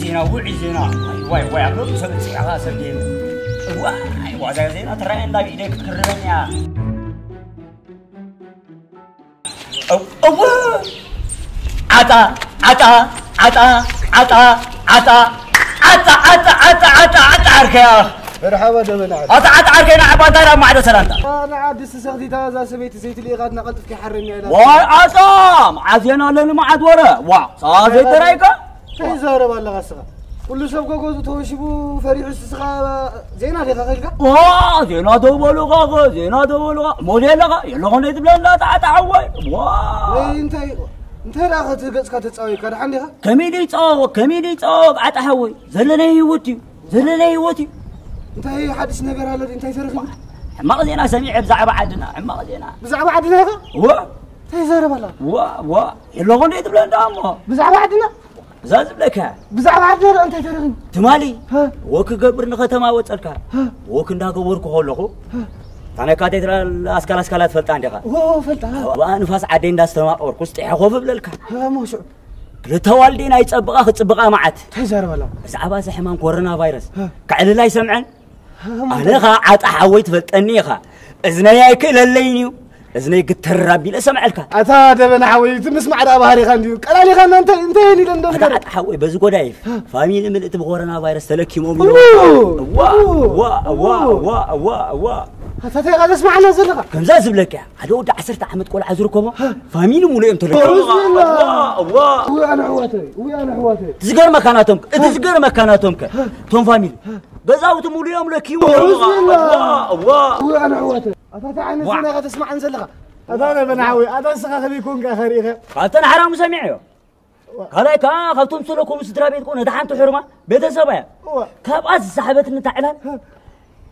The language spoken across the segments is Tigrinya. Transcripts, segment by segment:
ዜና፣ ውዑይ ዜና። ዋይ፣ ዋይ፣ ዋይ፣ ኣብ ሎሚ ሰብ ጽያኻ ሰብ ጌም። ዋይ፣ ዋዛ ዜና ትራይ እንዳ ቢደ ክትክርበን እያ። እው፣ እው። ዓጣ፣ ዓጣ፣ ዓጣ፣ ዓጣ፣ ዓጣ፣ ዓጣ፣ ዓጣ፣ ዓርከያ። መርሓባ ደበና ዓጣ። ኣታ ዓጣ ዓርከይ ንዓባ እንታይ ናብ ማዕዶ ሰላምታ? ንዓ ድስቲ ሰኽቲታ እዛ ሰበይቲ ዘይትልኢኻትና ቀልጥፍኪ ሓረኛ ኢላ። ዋይ ዓጣ፣ መዓት ዜና ኣለኒ መዓት ወረ። ዋ፣ ሰባ ዘይተራይካ? እንታይ ይዛረብ ኣለኻ እስኻ? ኩሉ ሰብ ገገዙ ተወሺቡ ፈሪሑ እስኻ ዜና ዲኻ ከልካ? ዋ፣ ዜና ተበሉኻ ኸ፣ ዜና ተበሉኻ። ሞዴል ኣለኻ? የለኹ እንዴ ትብለና ተዓጣ ሓወይ? ዋ። ወይ እንታይ፣ እንታይ ደኣ ኸ እቲ ገጽካ ተጻወይካ? ደሓን ዲኻ? ከመይ ደይ ጸዋወቅ፣ ከመይ ደይ ጸዋወቅ ዓጣ ሓወይ? ዘለናይ ህይወት እዩ፣ ዘለናይ ህይወት እዩ። እንታይ ሓድሽ ነገር ኣሎ? እንታይ ተረኺቡ? ሕማቕ ዜና ሰሚዐ ብዛዕባ ዓድና፣ ሕማቕ ዜና። ብዛዕባ ዓድና ኢኻ? ዋ። እንታይ ይዛረብ ኣላ? ዋ፣ ዋ። የለኹ እንዴ ትብለና እሞ? ብዛዕባ ዓድና? እዛ ዝብለካ። ብዛዕባ ዓድና ደኣ እንታይ ተረኺቡ? ትማሊ ሀ? ወክ ክገብር ንኸተማ ወጸልካ። ሀ? ወክ እንዳገበርኩ ከለኹ ሀ? ታነካ ቴትራል ኣስካል ኣስካላ ትፈልጣ እንዲኻ? ዎ፣ ፈልጣ። ኣብኣ ንፋስ ዓደይ እንዳስተማቐርኩ ስጢሐ ኮፍ እብለልካ። ሀ፣ እሞ ሽዑ? ክልተ ዋልዴን ኣይጸብቓ ክጽብቓ መዓት። እንታይ ይዛረብ ኣላ? ብዛዕባ እዚ ሕማም ኮሮና ቫይረስ ሀ? ከዕልል ኣይሰምዐን። ኣነ ኸዓ ዓጣ ሓወይ ትፈልጠኒ ኢኻ። እዝነይ ኣይክእለለይን እዩ። እዝነይ ግተር ኣቢለ ሰምዐልካ። ኣታ ደበና ሓወይ፣ እቲ ምስማዕ ደኣ ባህሪኻ እንድዩ። ቀላሊኻና እንታይ፣ እንታይ እየን ኢለን ዶ ኣታ ንገረን? ዓጣ ሓወይ፣ በዚ ጎዳይፍ ፋሚሊ ምልእቲ ብኮሮና ቫይረስ ተለኪሞም እዮም። እዋ፣ እዋ፣ እዋ፣ እዋ፣ እዋ፣ እዋ። ኣታ እንታይ ኢኻ ዘስምዓና ዘለኻ? ከምዛ ዝብለካ እያ። ሓደ ወዲ ዓሰርተ ዓመት ቆልዓ ዝርከቦ ፋሚሊ ሙሉ እዮም ተለኪሞም። እዋ፣ እዋ። እዋ፣ ኣነ ኣሕዋተይ፣ እዋ፣ ኣነ ኣሕዋተይ። እቲ ዝገርመካ ናቶም፣ እቲ ዝገርመካ ናቶም ከ፣ እቶም ፋሚሊ ገዛውቲ ሙሉ እዮም ለኪቦም። እዋ፣ እዋ፣ እዋ። እዋ፣ ኣነ ኣሕዋተይ። ኣታ እንታይ ዓይነት ዋ። ዜና ኢኻ ተስምዓን ዘለኻ? ኣታ ደበና ሓወይ፣ ኣታ ንስኻ ከመይ ኮንካ ኢኻ ርኢኻ? ካብተን ሓራሙ ሰሚዐዮ። ዋ። ካልኣይ ከኣ ካብቶም ዝሰለኮሙ ስድራ ቤት ኮነ፣ እታ ሓንቲ ሕርማ ቤተሰባ እያ። ዋ። ካብኣ ዝሰሓበትኒ እታ ዕላል፣ ህ።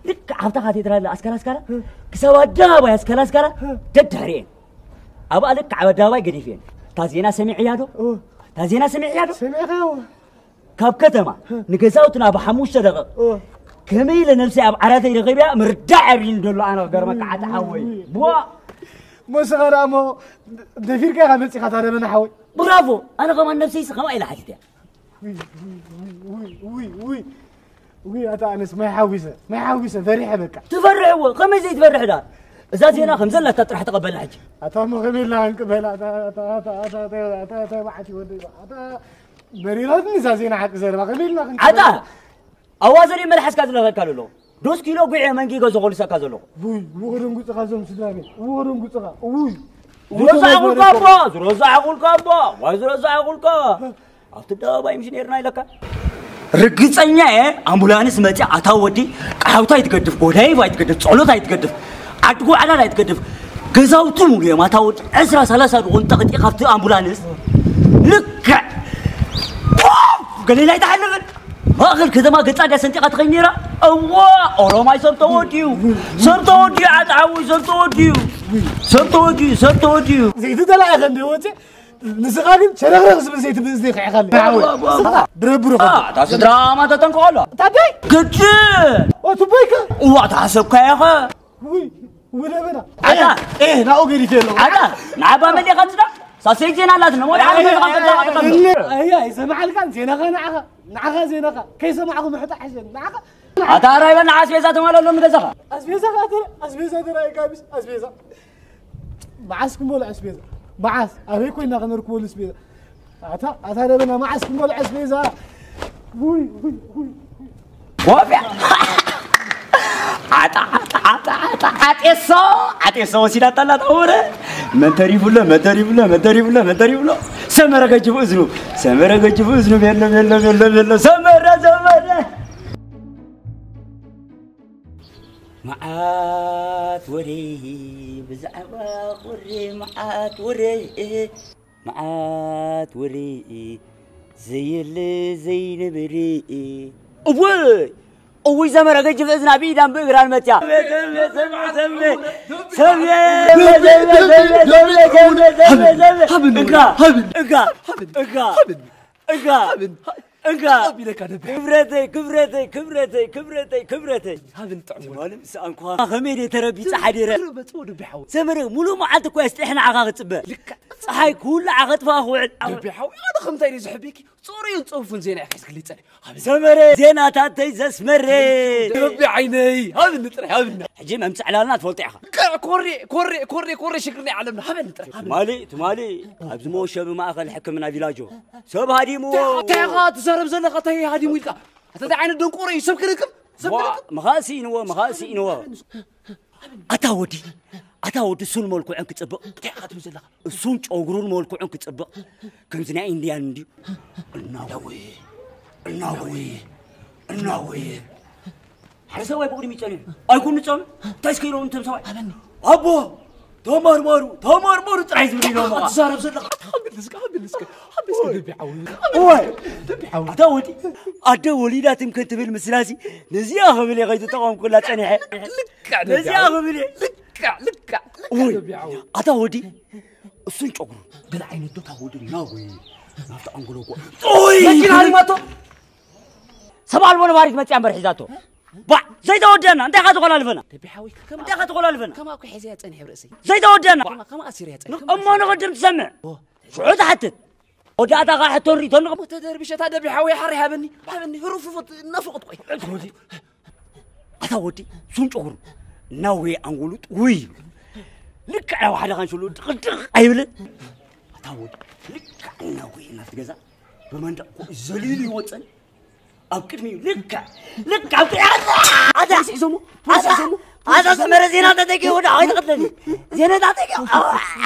ልክዕ ኣብታ ካቴድራል ኣስካላ ኣስካላ፣ ህ። ክሳብ ኣደባባይ ኣስካላ ኣስካላ፣ ህ። ደድሕሪኤን። ኣብኣ ልክዕ ኣብ ኣደባባይ ገዲፍየን። እታ ዜና ሰሚዕያ ዶ? ዋ። እታ ዜና ሰሚዕያ ዶ? ሰሚዕካዮ? ካብ ከተማ ንገዛውትና ብሓሙሽተ ደቂቕ እወ። ከመይ ኢለ ነብሰይ ኣብ ዓራተይ ረኺበያ ምርዳእ ኣብዩኒ ዘሎ ኣነ ክገርመካ ዓጣ ሓወይ። ዋ! እሞ ንስኻ ደኣ እሞ ደፊርካ ኢኻ መጺኻ እታ ደበና ሓወይ። ብራቮ! ኣነ ከማን ነብሰይሲ ከምኣ ኢለ ሓቲተያ። ውይ፣ ውይ፣ ውይ፣ ውይ፣ ውይ፣ ውይ። ውይ፣ ኣታ ኣነስ ማይ ሓዊሰ፣ ማይ ሓዊሰ ፈሪሐ በቃ። ትፈርሕ እወ፣ ከመይ ዘይትፈርሕ ደኣ? እዛ ዜና ከም ዘላታ ጥራሕ ተቐበላ ሕጂ። ኣታ እሞ ከመይ ኢልና ክንቅበላ? ኣታ፣ ኣታ፣ ኣታ፣ ኣታ፣ ኣታ፣ ኣታ፣ ኣታ፣ መዓት እዩ ወደይ። ኣታ መሪራትኒ እዛ ዜና ሓቂ ዘረባ። ከመይ ኢልና ክንቅበላ? ዓጣ! ኣዋዘሪ መልሓስካ ዝለኸካ ዘሎ። ዶስ ኪሎ ጉዕ መንጊጎ ዝኾልሰካ ዘለኹ። ውይ፣ ውቕድም ጉጽኻ እዞም ስድራ ቤት። ውቕድም ጉጽኻ። ውይ። ዝረሳዕኹልካ እባ፣ ዝረሳዕኹልካ እባ፣ ዋይ ዝረሳዕኹልካ። ኣብቲ ኣደባባይ ምሽ ነይርና ኢለካ። ርግጸኛ እየ፣ ኣምቡላንስ መጺኣ፣ ኣታ ወዲ፣ ቃሓውታ ኣይትገድፍ፣ ጎዳይፍ ኣይትገድፍ፣ ጸሎት ኣይትገድፍ፣ ዓዲ ጓዕላል ኣይትገድፍ፣ ገዛውቲ ሙሉ እዮም፣ ኣታ ወዲ፣ ዕስራ ሰላሳ ድኾን ጠቕጢ ካብቲ ኣምቡላንስ፣ ልክዕ፣ ፖፍ! ገሊላ ኣይትሓልፍን። ማእኸል ከተማ ገጻ ድያ ሰንጢቓ ትኸይድ ነይራ? እዋ፣ ኦሮማይ ሰብ ተወዲኡ፣ ሰብ ተወዲኡ፣ ዓጣ ሓወይ፣ ሰብ ተወዲኡ፣ ሰብ ተወዲኡ፣ ሰብ ተወዲኡ። ዘይትደላየ ከ እንደ ወፂ ንስኻ ግን ሸረኽረኽ ዝብል ዘይትብል ዘይኽዕኻለይ። ዋ፣ ዋ፣ ዋ። ንስኻ ድረብሩ ዋ፣ ከ። እታ ስድራ ማታ ተንኮሎ። ታደይ? ግድን። ኦ፣ ትቦይከ? እዋ፣ እታ ሓሰብካያ ኸ? ውይ፣ ውይ፣ ለበና። ኣታ። ኤ፣ ኤ፣ ናኡ ገዲፈ ኣለኹ። ኣታ፣ ንዓባ መሊኻ ትዳ? ሳሰይ ዜና ኣላት፣ ነሞ ደሓን ኤ፣ ገዛ ኤ፣ ቀልቀል ኤ፣ ተቐበል። ኤ፣ ኣይ፣ ኣይሰማዕልካን፣ ዜናኻ ንዓኻ፣ ንዓኻ ዜናኻ። ከይሰማዕኹ ምሕጣ ሕሸን፣ ንዓኻ። ኣታ፣ ራይበና ኣስቤዛ ተማለሎም ንገዛኻ። ኣስቤዛ፣ ኣስቤዛ፣ ኣስቤዛ። መዓስ ክንበልዖ ኣስቤዛ? መዓስ? ኣበይ ኮይና ከነርክበሉ ኣስቤዛ? ኣታ፣ ኣታ ደበና መዓስ ክንበልዖ ኣስቤዛ? ውይ፣ ውይ፣ ውይ፣ ውይ። ኮፍያ! ዓጣ፣ ዓጣ፣ ዓጣ፣ ዓጣ፣ ዓጤሶ! ዓጤሶ ወሲዳታ ኣላ ተወረ። መን ተሪፉሎ፣ መን ተሪፉሎ፣ መን ተሪፉሎ፣ መን ተሪፉሎ? ሰመረ ገጅፉ እዝኑ፣ ሰመረ ገጅፉ እዝኑ፣ ቤሎ፣ ቤሎ፣ ቤሎ፣ ቤሎ፣ ሰመረ፣ ሰመረ! መዓት ወሬ ብዛዕባ ቁሪ መዓት ወሬ፣ መዓት ወሬ ዘየለ ዘይነበረ። እወ፣ እውይ ዘመረ ገጅፍ እዝና ብኢዳን ብእግራን መትያ። እንካ፣ እንካ፣ እንካ፣ እንካ። እንካ። ኣቢለካ ደብሕ። ክብረተይ፣ ክብረተይ፣ ክብረተይ፣ ክብረተይ፣ ክብረተይ። ሃብን ጥዑም ወርቂ። ትማሊ ምስ ኣንኳ ከመይ ደይ ተረቢጸ ሓዲረ። ክረበጽዎ ደቢ ሓወይ። ሰመረ፣ ሙሉእ መዓልቲ እኮ እየ ስጢሐ ንዓኻ ክጽበ። ልክዕ። ጸሓይ ክውልዓ ከጥፍኣ ክውዕል። ደቢ ሓወይ፣ ኣነ ከምታይ ደይ ዝሕብየኪ? ጽሩይን ጽፉን ዜና ኢኻ ሒዝክልይ ጸኒሕ። ሰመረ ዜናታተይ ዘስመረ። ረቢ ዓይነይ፣ ሃብኒ ጥራይ፣ ሃብኒ። ሕጂ መምጽእ ዕላልና ትፈልጦ ኢኻ። ኮሬ፣ ኮሬ፣ ኮሬ፣ ኮሬ ሽግር ናይ ዓለምና፣ ሃበኒ ጥራይ፣ ሃበኒ። ትማሊ፣ ትማሊ ኣብዚ መወሸቢ ማእከል ሕክምና ቪላጆ ሰብ ሃዲምዎ። እንታይ፣ እንታይ ኢኻ ትዛረብ ዘለኻ? እንታይ ሃዲሙ ኢልካ? ኣታ እንታይ ዓይነት ደንቆሮ እዩ? ሰብ ክልክም? ሰብ ዋ፣ ክልክም? ምኻእ ስኢንዎ፣ ምኻእ ስኢንዎ። ኣታ ወዲ፣ ኣታ ወዲ፣ እሱን መልክዑን ክጽብቕ። እንታይ ኢኻ ትብል ዘለኻ? እሱን ጨጉሩን መልክዑን ክጽብቕ። ከምዚ ናይ ኢንድያን እንድዩ። እናወየ፣ እናወየ፣ እናወየ። ሓደ ሰብኣይ ብቕድሚ ይጸንሕ። ኣይኮኑ ጸም፣ እንታይ እስከ ኢሎም እቶም ሰብኣይ? ኣበኒ። ኣቦ፣ ተመርመሩ፣ ተመርመሩ ጥራይ ዝብል ኢሎም። ኣታ ትዛረብ ዘለኻ? ኣታ ሓብል እስከ፣ ሓብል እስከ፣ ሓብል እስከ ደቢ ሓዊ። እዋይ። ደቢ ሓዊ። ኣታ ወዲ፣ ኣደ ወሊዳ ትምክን ትብል ምስላሲ፣ ነዚኣ ክብል እየ ከይተጠቐምኩላ ጸኒሐ። ልክዕ ደቢ ነዚኣ ሓዊ። ክብል እየ። ልክዕ፣ ልክዕ፣ ልክዕ ውይ፣ ደቢ ሓዊ። ኣታ ወዲ፣ እሱን ጨጉሩ፣ ገለ ዓይነት ዶ ታወዲ ናወይ፣ ናብቲ ኣንጎሎ እኮ። ኡይ! መኪና ሃዲማቶ? ሰብ ኣልቦ ነባሪት መጽያ እምበር ሒዛቶ። ባ፣ ዘይተወደና፣ እንታይ ኢኻ ተቆላልፈና? ደቢ ሓዊ፣ ከማ-፣ እንታይ ኢኻ ተቆላልፈና? ከማ እኮ ሒዘያ ጸኒሐ ኣብ ርእሰይ። ዘይተወደና። ከማ፣ ከማ ኣሲረያ ጸኒሐ። እሞ ንቕድም ትሰምዕ። ኦ። ሽዑ ትሓትት። ወዳእታ ኸዓ ሕቶን ሪኢቶን ንቕ-፣ እሞ ተደርቢሸ እታ ደቢ ሓዊ ሓሪ ሃበኒ፣ ሃበኒ፣ ህሩፍፎት ናፍቖት ቆይ። ኣታ ወዲ፣ ሱን ጨጉሩ፣ ናወይ ኣንጎሉ ጥውይ። ልክዕ ናብ ሓደ ካንሸሎ ድቕድቕ ኣይብልን። ኣታ ወዲ፣ ልክዕ ናወይ ናብቲ ገዛ ብመንደቕ ኮ ዘሊሉ ይወጸን። ኣብ ቅድሚኡ ልክዕ፣ ልክዕ ኣብ ቅድሚ-፣ ኣታ፣ ፖሊስ ሒዞሞ፣ ፖሊስ ኣታ፣ ሒዞሞ፣ ኣታ ፖሊስ ሒዞሞ። ሰመረ ዜና ተጠቂሙ ወደ ዓወይ ተቐትለኒ። ዜና ተጠቂሙ። ሶሪ፣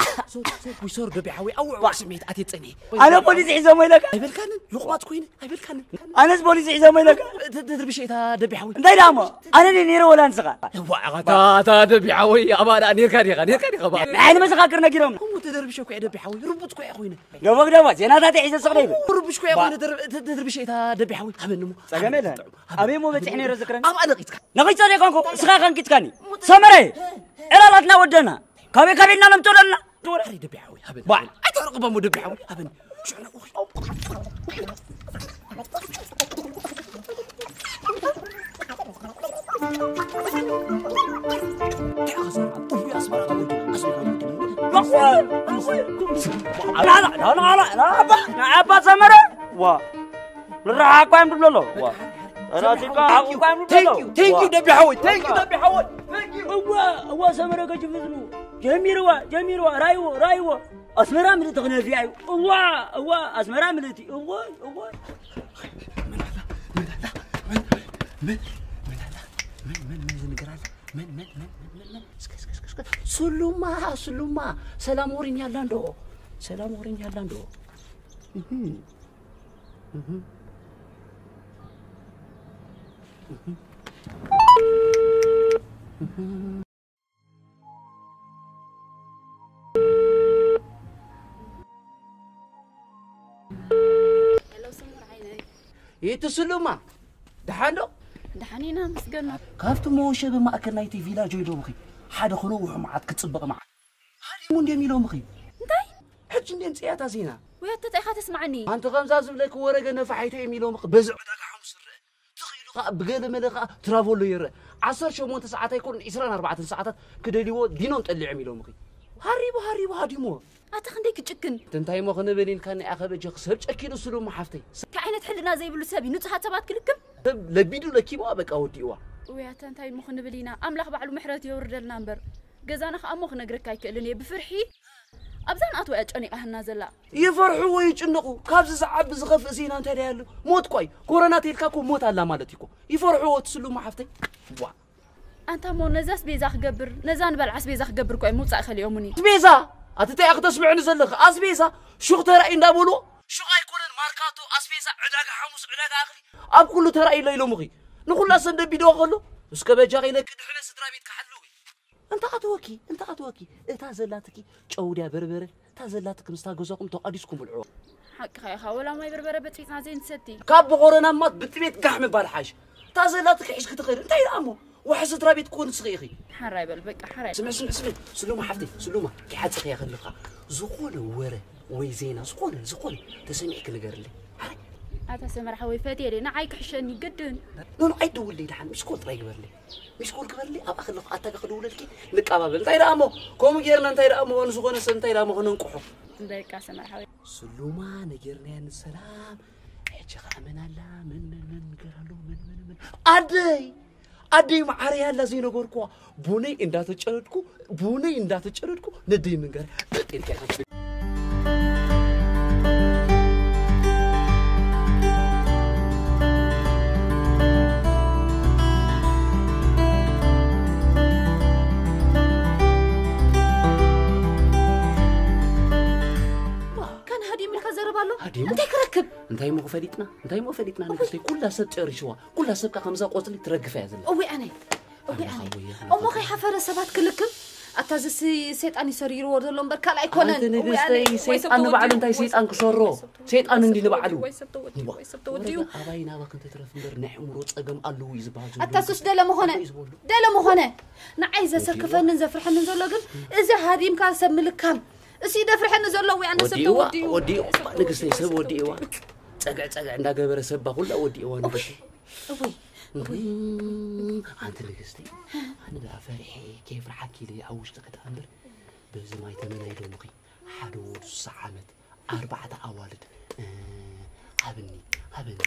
ሶሪ፣ ሶሪ፣ ሶሪ፣ ሶሪ፣ ደቢ ሓዊ፣ ኣውዕ፣ ኣውዕ፣ ስምዒት ኣትየ ጸኒሐ። ኣነ ፖሊስ ሒዞሞ ኢለካ? ኣይበልካንን፣ ሎቕማጽ ኮይነ፣ ኣይበልካንን። ኣነስ ፖሊስ ሒዞሞ ኢለካ? ተ-፣ ተ-፣ ተድርብሸ እታ ደቢ ሓዊ። እንታይ ደኣ እሞ? ኣነ ድየ ነይረ ወላ ንስኻ? እዋእ፣ ኣታ፣ ኣታ ደቢ ሓዊ፣ ኣባ ደኣ ኔርካ ዲኻ? ኔርካ ዲኻ፣ ኣባ? ንዓይኒ መሰኻክር ነጊሮም። እሞ ተደርብሸ እኮ እየ ደቢ ሓዊ፣ ርቡጽ እኮ እየ ኮይነ። ደበግ ደባ፣ ዜናታት ሒዘ ስቕ ደይብል። ርቡሽ እኮ እየ ባ- ኮይነ፣ ተደር-፣ ተ-፣ ተድርብሸ እታ ደቢ ሓዊ። ሃበኒ እሞ። ጸገም የለን። ሃበኒ፣ ኣበይ እሞ በጺሕ ነይረ ዝክረን? ኣብ ኣለቒጽካ። ነቒጸ ደይኮንኩ፣ እስኻ ኮንኪትካኒ። ሰመረ፣ ዕላላትና ወደና። ካበይ ካበይ ኢና ነምጽኦ ደለና? ኣረ ደቢ ሓዊ፣ ሃበኒ፣ ባ- ሃበኒ። ኣይተርቕቦ እሞ ደቢ ሓዊ፣ ሃበኒ። ሽዑ ነቑ። ንዓባ ሰመረ። ዋ። ንረሓቕ እኳ እዮም ዝብሎ ኣሎ። ዋ። ራሲካ ሓቕ እኳ እዮም ዝብሎ ኣሎ። Thank you, thank you፣ ዋ። ደቢ ሓወይ፣ thank you፣ ደቢ ሓወይ፣ thank you። እዋ፣ እዋ፣ ሰመረ ከጅምዝኑ። ጀሚርዋ፣ ጀሚርዋ፣ ራይዎ፣ ራይዎ። ኣስመራ ምልእቲ ክነፍያ እዩ። እዋ፣ እዋ፣ ኣስመራ ምልእቲ። እዋ፣ እዋ። ምን ኣላ? ምን ኣላ? ምን፣ ምን፣ ምን ኣላ? ምን፣ ምን፣ ምን ዝንገር ኣላ? ምን፣ ምን፣ ምን፣ ምን፣ ምን፣ ምን? እስከ፣ እስከ፣ እስከ፣ እስከ። ስሉማ፣ ስሉማ። ሰላም ወሪኛ ኣላ እንዶ? ሰላም ወሪኛ ኣላ እንዶ? እህ። እህ። እህ። እህ። ሄሎ፣ ስሙር ዓይነይ። ይትስሉማ፣ ደሓን ዶ? ደሓን ኢና፣ መስገኖ። ካብቲ መወሸቢ ማእከል ናይቲ ቪላጆ ኢሎምኺ፣ ሓደ ክነውሑ መዓት ክጽበቕ መዓት። ሃኒሙን ድዮም ኢሎምኺ? እንታይ? ሕጂ እንድዮም ጽያታ ዜና። ወይ ኣታ እንታይ ኢኻ ተስምዓኒ? ኣንቲ ከምዛ ዝብለኪ ወረ ገነፋ ሓይተ እዮም ኢሎምኺ፣ በዚ ዕዳጋ ሓሙስ ዝረአ። ትኽኢሉ ኸኣ ብገለ መለ ኸኣ ትራቮሎ ይረአ። ዓሰርተ ሸሞንተ ሰዓት ኣይኮኑን፣ ዕስራን ኣርባዕተን ሰዓታት ክደልይዎ ዲኖም ጠሊዖም ኢሎምኺ። ሃሪቡ፣ ሃሪቡ ሃዲምዎ። ኣታ ክንደይ ክጭክን። እንታይ እሞ ክንብል ኢልካ ናይ ኣኸበጀኺ ሰብ ጨኪኑ ስሉማ ሓፍተይ። እንታይ ዓይነት ሕልና ዘይብሉ ሰብ እዩ ንጹሃት ሰባት ክልክም? ሰብ ለቢዱ ለኪምዋ በቃ ወዲእዋ። ውይ ኣታ እንታይ እሞ ክንብል ኢና? ኣምላኽ ባዕሉ ምሕረት የውርደልና እምበር። ገዛና ኸኣ እሞ ክነግረካ ኣይክእልን እየ ብፍርሒ። ኣብዛ ንኣትዋ እያ ጨኒቓ ህና ዘላ። ይፈርሑ ወይ ይጭነቑ። ካብዚ ዝዓቢ ዝኸፍእ ዜና እንታይ ደኣ ኣሎ? ሞት እኮ እዩ። ኮሮና ተይልካ እኮ ሞት ኣላ ማለት እዩ እኮ። ይፈርሑ ወይ ትስሉማ ሓፍተይ? ዋ። ኣንታ እሞ ነዚ ኣስቤዛ ክገብር፣ ነዛ ንበልዓ ኣስቤዛ ክገብር እኮ እዮም ምውጻእ ከሊኦሙኒ። ኣስቤዛ? ኣቲ እንታይ ኢኺ ተስምዕኒ ዘለኺ? ኣስቤዛ? ሹቕ ተራእዩ እንዳበልዎ? ሹቕ ኣይኮነን ማርካቶ፣ ኣስቤዛ፣ ዕዳጋ ሓሙስ፣ ዕዳጋ እኽሊ፣ ኣብ ኩሉ ተራእዩ ኣሎ ኢሎምኺ። ንኹላ ሰብ ደቢድዋ ከሎ፣ እስከ በጃኺ ኢለኪ ድሕነ ስድራ ቤትኪ ሓልዊ። እንተ ኣትወኪ፣ እንተ ኣትወኪ፣ እታ ዘላትኪ ጨው ድያ በርበረ፣ እታ ዘላትኪ ምስታ ገዛኹም ተቋዲስኩም ብልዕዎ። ሓቅኻ ኢኻ፣ ወላ ማይ በርበረ በጽቢጽና ዘይንሰቲ። ካብ ብኮሮና እማ ብጥሜት ጋሕ ምባል ሓይሽ። እታ ዘላትኪ ሒዝኪ ትኸዲ፣ እንታይ ደኣ እሞ? ዋሒ ስድራ ቤት ክኾን ንስኺ ኢኺ። ሓራይ በል፣ በቃ፣ ሓራይ። ስምዒ፣ ስምዒ፣ ስምዒ፣ ስሉማ ሓፍተይ፣ ስሉማ፣ ኪሓጽኺ እያ ከለኻ፣ ዝኾነ ወረ ወይ ዜና፣ ዝኾነ፣ ዝኾነ ተሰሚዕኪ ንገርለይ። ሓራይ። ኣታ ሰመር ሓወይ፣ ፈትየ ደይ፣ ንዓይ ክሕሸኒ ግድን። ኖ፣ ኖ፣ ኣይትደውልለይ ደሓን፣ ሚስኮል ጥራይ ግበርለይ። ሚስኮል ግበርለይ፣ ኣብኣ ከለኹ ኣታ ክድውለልኪ ንቀባበል። እንታይ ደኣ እሞ፣ ከምኡ ጌርና እንታይ ደኣ እሞ፣ ዝኾነ ሰብ እንታይ ደኣ እሞ ክነንቅሖ። በቃ ሰመር ሓወይ። ስሉማ፣ ነጊርናያ ንሰላም፣ ሸኻ መን ኣላ? መን፣ መን፣ መን፣ ንገር ኣሎ? መን፣ መን፣ መን? ኣደይ! ኣደይ መዓረይ ኣላ ዘይነገርኩዋ። ቡነይ እንዳተጨረድኩ፣ ቡነይ እንዳተጨረድኩ፣ ነደይ ምንገር። ካን ሃዲም ኢልካ ዘረባ ኣሎ? ሃዲም? እንታይ ክረክብ? እንታይ እሞ ፈሊጥና? እንታይ እሞ ፈሊጥና? ንግስተይ፣ ኩላ ሰብ ጨሪሽዋ። ኩላ ሰብ ከ ከምዛ ቆጽሊ ትረግፍ እያ ዘላ። እወ ኣነ። እወ ኣነ። ኣምላኽ ኣቦይ፣ ኣምላኽ እሞ ኣቦይ። ከይሓፈረ ሰባት ክልክም? ኣታ እዚ ሲ-፣ ሰይጣን እዩ ሰሪርዎ ዘሎ እምበር ካልእ ኣይኮነን። ኣንቲ እወ ኣነ። ንግስተይ፣ ወይ ሰብ ሰይጣን ንባዕሉ ተወዲኡ፣ እንታይ ወይ ሰይጣን ሰብ ክሰርሮ? ተወዲኡ፣ ሰይጣን ወይ እንዲ ሰብ ንባዕሉ። ተወዲኡ፣ ወይ ሰብ ተወዲኡ፣ እዋ፣ ወይ ሰብ ተወዲኡ። ወረደ ኣባይ ናባኽን ትትረፍ እምበር ናይ ኣእምሮ ጸገም ኣለዎ እዩ ዝበሃል ዘሎ። ኣታ ሱስ ደለ ምኾነ? እንታይ እዩ ዝበሉ? ደለ ምኾነ? ንዓይ ዘሰክፈንን ዘፍርሐንን ዘሎ ግን እዚ ሃዲምካ ሰብ ምልካም። እሱ ይደፍርሐኒ ዘሎ ወይ ኣነ ሰብ ወዲእዋ፣ ተወዲኡ። ወዲእዋ፣ ንግስተይ ሰብ ወዲእዋ። ጸግዕ ጸግዕ እንዳገበረ ሰባ ኩላ ወዲእዋ ንግስተይ። እወይ፣ እወይ። እም፣ ኣንቲ ንግስተይ፣ ኣነ ደኣ ፈሪሐ ከየፍርሓኪ ኢለ ኣብ ውሽጢ ክድኣ እምበር፣ በዚ ማይ ተመን ኣይደምኺ። ሓደ ወዱ ስሳ ዓመት፣ ኣርባዕተ ኣዋልድ፣ እ፣ ሃብኒ፣ ሃብኒ፣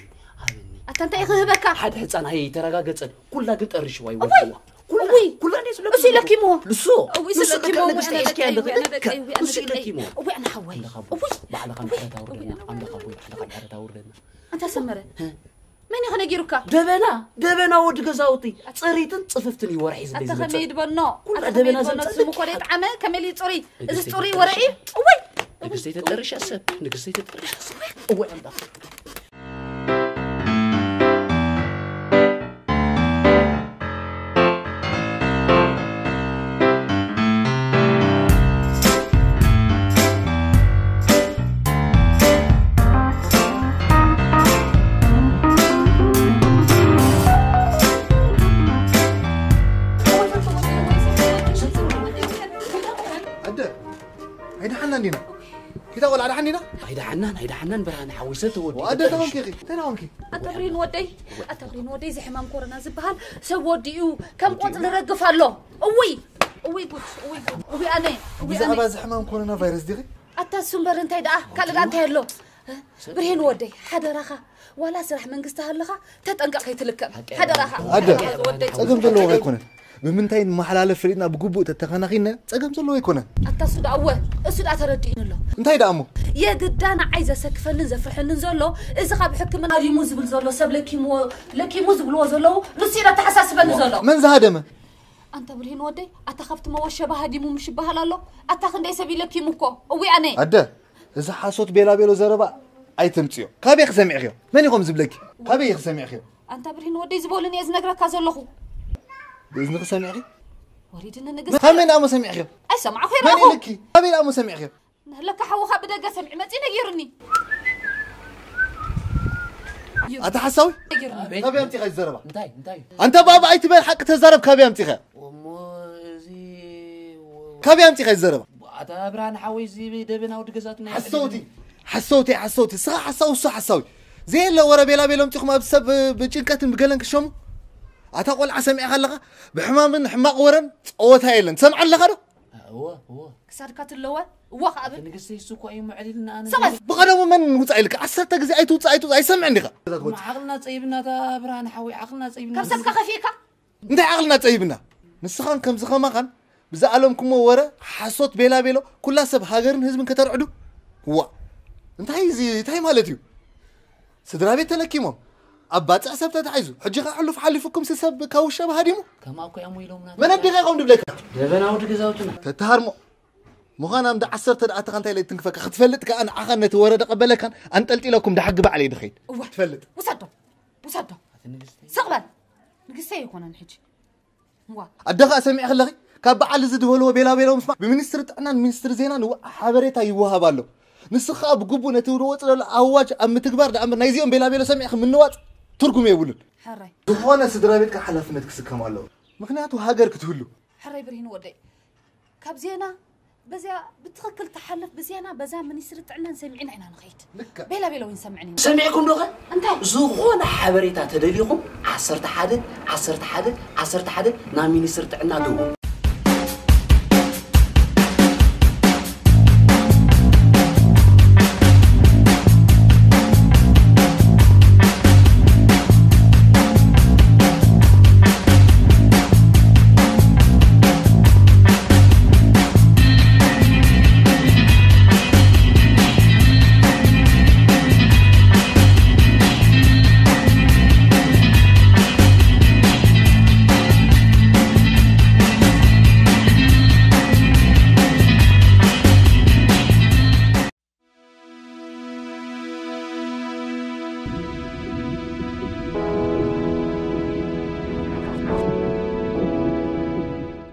ሃብኒ። ኣታ እንታይ ክህበካ? ሓደ ህፃን ኣይተረጋገፀን። ኩላ ግን ጠርሽዋ እወይ! ይወድዋ። ኩላ፣ እወይ! ኩላ እንዴ ስለኪ እሱ ይለኪሞ። ንሱ፣ እወይ፣ ንሱ ስለኪሞ፣ ለካ እወይ፣ ንግስቲ ኣነ ኤስኪ ደቀይ፣ ኣለካ። እወይ፣ ኣነ ደቀይ፣ እወይ፣ ኣነ ንሱ ደቀይ። ይለኪሞ። እወይ፣ ኣነ ሓወይ። ኣምላኽ ኣቦይ፣ እወይ! ኣምላኽ ኣቦይ፣ ኣምላኽ ኣቦይ፣ ኣምላኽ ኣቦይ፣ ኣምላኽ ኣቦይ፣ ኣምላኽ ኣቦይ፣ ኣምላኽ ኣቦይ፣ ኣምላኽ ኣቦይ። ኣንታ ሰመረ፣ እ? መን ኢኸ ነጊሩካ? ደበና፣ ደበና ወዲ ገዛውቲ። ጽሪትን ጽፍፍትን እዩ ወርሒ ዝለይ ኣታ ዝመጽእ። ከመይ ይድበኖ? ኩላ ኣታ ከመይ ደበና ይድበኖ? ዘምጸእ ስሙ እኮ ደይ ጣዕመ፣ ከመይ ልዩ ጽሩይ? እዚ ንግስተይ ጽሩይ ተጠርሻ ወረ እዩ። ሰብ። እወይ! ንግስተይ ተጠርሻ ሰብ። ንግስተይ ተጠርሻ ሰብ። እወይ ኣምላኽ። ኣደ፣ ኣይደሓና እንዲና? ኪታ ቆልዓ ደሓን ዲና? ኣይደሓናን፣ ኣይደሓናን ብርሃነ ሓወይ፣ ሰብ ተወዲኡ ኣደ ተኾንኪ ኢኺ? እንታይ ደኣ ኾንኪ? ኣታ ብሪን ወደይ፣ ኣታ ብሪን ወደይ፣ እዚ ሕማም ኮሮና ዝበሃል ሰብ ወዲኡ ከም ቆጽሊ ረግፍ ኣሎ። እውይ፣ እውይ ጉድ፣ እውይ ጉድ፣ እውይ ኣነ፣ እውይ ኣነ። ብዛዕባ እዚ ሕማም ኮሮና ቫይረስ ዲኺ? ኣታ እሱ እምበር እንታይ ደኣ፣ ካልእ ደኣ እንታይ ኣሎ? ብርሂን ወደይ፣ ሓደራኻ፣ ዋላ ስራሕ መንግስቲ ሃለኻ፣ ተጠንቀቕ ከይትልከም። ሓቂ ሓደራኻ። ኣደ፣ ሓደራኻ ወደይ። ጸገም ዘለዎ ኣይኮነን። ብምንታይ ንመሓላለፍ ፈሊጥና ብግቡእ ተተኸናኺንና ጸገም ዘለዎ ኣይኮነን። ኣታ እሱ ደኣ እወ፣ እሱ ደኣ ተረዲኡኒ ኣሎ። እንታይ ደኣ እሞ? የግዳ ንዓይ ዘሰክፈንን ዘፍርሐንን ዘሎ፣ እዚ ካብ ሕክምና ሃዲሙ ዝብል ዘሎ ሰብ ለኪምዎ፣ ለኪሙ ዝብልዎ ዘለዉ፣ ንሱ እዩ ኣተሓሳስበኒ ዘሎ። መን ዝሃደመ? ኣንታ ብርሂን ወደይ፣ ኣታ ካብቲ መወሸባ ሃዲሙ ምሽ ይበሃል ኣሎ። ኣታ ክንደይ ሰብ እዩ ለኪሙ እኮ። እዊ ኣነ። ኣደ፣ እዚ ሓሶት ቤላ ቤሎ ዘረባ ኣይተምጽዮ። ካበይ ክሰሚዕክዮ? መን ኢኹም ዝብለኪ? ካበይ ክሰሚዕክዮ? ኣንታ ብርሂን ወደይ ዝበሉን እየ ዝነግረካ ዘለኹ። ብእዝንኺ ሰሚዕኺ? ወሪድኒ ንግስቲ። ካብ መን ደኣ እሞ ሰሚዕኽዮ? ኣይሰማዕኹ መን ይረኣኹ። ኢልኪ? ካበይ ደኣ እሞ ሰሚዕኽዮ? ለካ ሓውኻ ብደገ ሰሚዑ መጺኡ ነጊሩኒ። ኣታ ሓሳዊ? ነጊሩኒ። ኣቤት። ካበይ ኣምጺኻ ዝዘረባ? እንታይ፣ እንታይ? ኣንታ ባባ ኣይትበል፣ ሓቂ ተዛረብ፣ ካበይ ኣምጺኻ? እሞ እዚ ካበይ ኣምጺኻ ዝዘረባ? ኣታ ብርሃን ሓወይ፣ እዚ ደበና ወዲ ገዛትና ሓሰውቲ፣ ሓሰውቲ፣ ሓሰውቲ፣ ስኻ ሓሳዊ፣ እሱ ሓሳዊ። ዘየለ ወረ ቤላ ቤሎም ጢኹም ኣብ ሰብ ብጭንቀትን ብገለን ክሸሙ። ኣታ ቆልዓ ሰሚዕኻ ኣለኻ? ብሕማምን ሕማቕ ወረን ጸወታ የለን። ትሰምዓ ኣለኻ ዶ? እወ፣ እወ። ክሳድካ ትለወ፣ እወ ከኣ ብል። ንግስተይ እሱ እኮ እዩ ምዕሊልና ኣነ ሰቐል። ብቐደሙ መን ውጻእ ኢልካ? ዓሰርተ ግዜ ኣይትውጻእ፣ ኣይትውጻእ፣ ኣይሰምዕን ዲኻ? ዓቕልና ጸይብና፣ እታ ብርሃን ሓወይ፣ ዓቕልና ጸይብና። ካብ ሰብካ ከፊእካ? እንታይ ዓቕልና ጸይብና? ንስኻን ከምዚ ኸማኻን ብዝኣለምኩሞ ወረ ሓሶት ቤላ ቤሎ ኩላ ሰብ ሃገርን ህዝብን ከተርዕዱ? ዋ! እንታይ እዚ፣ እንታይ ማለት እዩ? ስድራ ቤት ተለኪሞም፣ ኣብ ባጽዕ ሰብ ተታሒዙ፣ ሕጂ ኸኣ ሕሉፍ ሓሊፉኩም ሲ ሰብ ካብ ውሸባ ሃዲሙ? ከምኣ እኮ እዮም ኢሎምና። መን ኣዲኻ ኢኹም ድብለካ? ደበና ወዲ ገዛውትና። ተተሃርሞ። ምዃን ኣምዳ ዓሰርተ ደኣ ኣተኻ እንታይ ኢለ ትንክፈካ? ክትፈልጥ ከኣ ንዓኻን ነቲ ወረ ደቐበለካን ኣንጠልጢለኩም ደሓጊ ባዕለይ ድኸይድ። እዋ። ትፈልጥ። ውሰዶ። ውሰዶ። ኣቲ ንግስተይ። ስቕ በል። ንግስተይ ኣይኮነን ሕጂ። ዋ። ኣደ ኸኣ ሰሚዕኺ ኣለኺ? ካብ በዓል እዚ ዝበልዎ ቤላ ቤሎ ምስማዕ ብሚኒስትሪ ጥዕናን ሚኒስትሪ ዜናን ዋ-፣ ሓበሬታ ይወሃብ ኣሎ። ንስኺ ኸኣ ብግቡእ ነቲ ዝወጽእ ዘሎ ኣዋጅ ኣብ ምትግባር ደኣ እምበር ናይዚኦም ቤላ ቤሎ ሰሚዕኺ ምንዋጽ ትርጉም የብሉን። ሕራይ። ዝኾነ ስድራ ቤት ከኣ ሓላፍነት ክስከም ኣለዎ። ምኽንያቱ ሃገር ክትህሉ። ሕራይ ብርሂን ወደይ። ካብ ዜና በዚኣ ብትኽክል ትሓልፍ ብዜና በዛ ሚኒስትሪ ጥዕናን ሰሚዕና ኢና ንኸይድ። ልክዕ። ቤላ ቤላ እውን ሰምዕን እዩ። ሰሚዕኩም ዶ ኸ? እንታይ? ዝኾነ ሓበሬታ ተደሊኹም ዓሰርተ ሓደ፣ ዓሰርተ ሓደ፣ ዓሰርተ ሓደ ናብ ሚኒስትሪ ጥዕና ደውሉ።